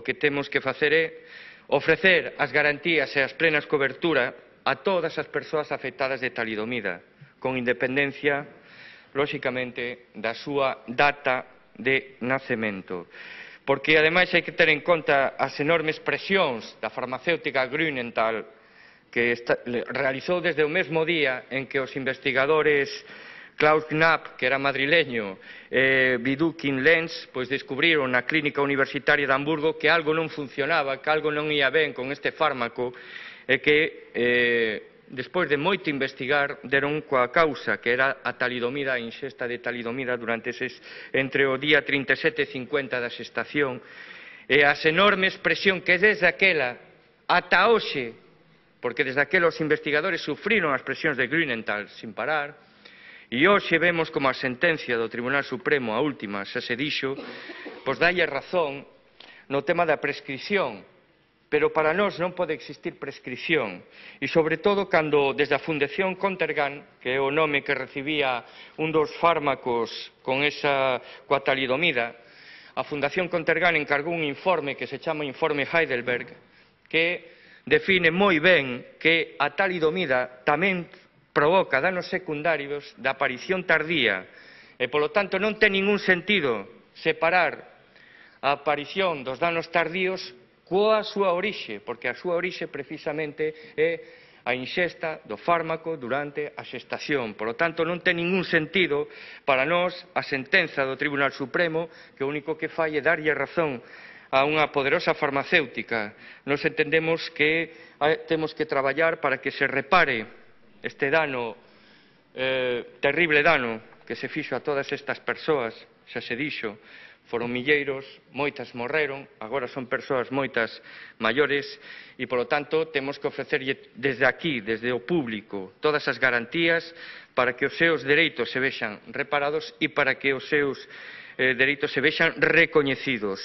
que temos que facer é ofrecer as garantías e as plenas cobertura a todas as persoas afectadas de talidomida, con independencia, lóxicamente, da súa data de nacemento. Porque, ademais, hai que ter en conta as enormes presións da farmacéutica Grünenthal, que realizou desde o mesmo día en que os investigadores Klaus Knapp, que era madrileño, e Vidukin Lenz, pois descubriron na clínica universitaria de Hamburgo que algo non funcionaba, que algo non ia ben con este fármaco e que, despois de moito investigar, deron coa causa, que era a talidomida, a inxesta de talidomida durante entre o día 37 e 50 da xestación, e as enormes presión que desde aquela ata hoxe, porque desde aquela os investigadores sufriron as presións de Grünenthal sin parar, e hoxe vemos como a sentencia do Tribunal Supremo, a última, xa se dixo, pois dalle razón no tema da prescripción, pero para nós non pode existir prescripción, e sobre todo cando desde a Fundación Contergan, que é o nome que recibía un dos fármacos coa talidomida, a Fundación Contergan encargou un informe que se chama Informe Heidelberg, que define moi ben que a talidomida tamén provoca danos secundarios da aparición tardía e, polo tanto, non ten ningún sentido separar a aparición dos danos tardíos coa súa orixe, porque a súa orixe precisamente é a inxesta do fármaco durante a xestación. Por lo tanto, non ten ningún sentido para nós a sentenza do Tribunal Supremo, que o único que fai é darlle razón a unha poderosa farmacéutica. Nos entendemos que temos que traballar para que se repare este dano, terrible dano que se fixo a todas estas persoas, xa se dixo, foron milleiros, moitas morreron, agora son persoas moitas maiores e, polo tanto, temos que ofrecerlle desde aquí, desde o público, todas as garantías para que os seus dereitos se vexan reparados e para que os seus dereitos se vexan recoñecidos.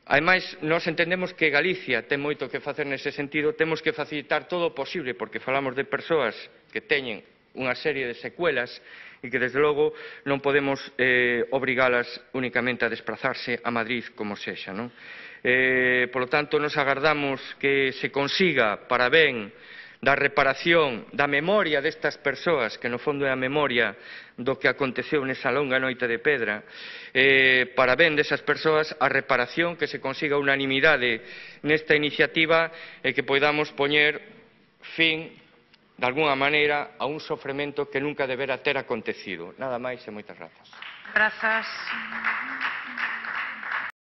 Ademais, nós entendemos que Galicia ten moito que facer nese sentido, temos que facilitar todo o posible, porque falamos de persoas que teñen unha serie de secuelas e que, desde logo, non podemos obrigalas únicamente a desplazarse a Madrid como sexa. Por lo tanto, nos agardamos que se consiga para ben da reparación, da memoria destas persoas, que no fondo é a memoria do que aconteceu nesa longa noite de pedra, para ben desas persoas, a reparación, que se consiga unanimidade nesta iniciativa e que podamos poñer fin, de alguna maneira, a un sofrimento que nunca debera ter acontecido. Nada máis e moitas grazas. Grazas.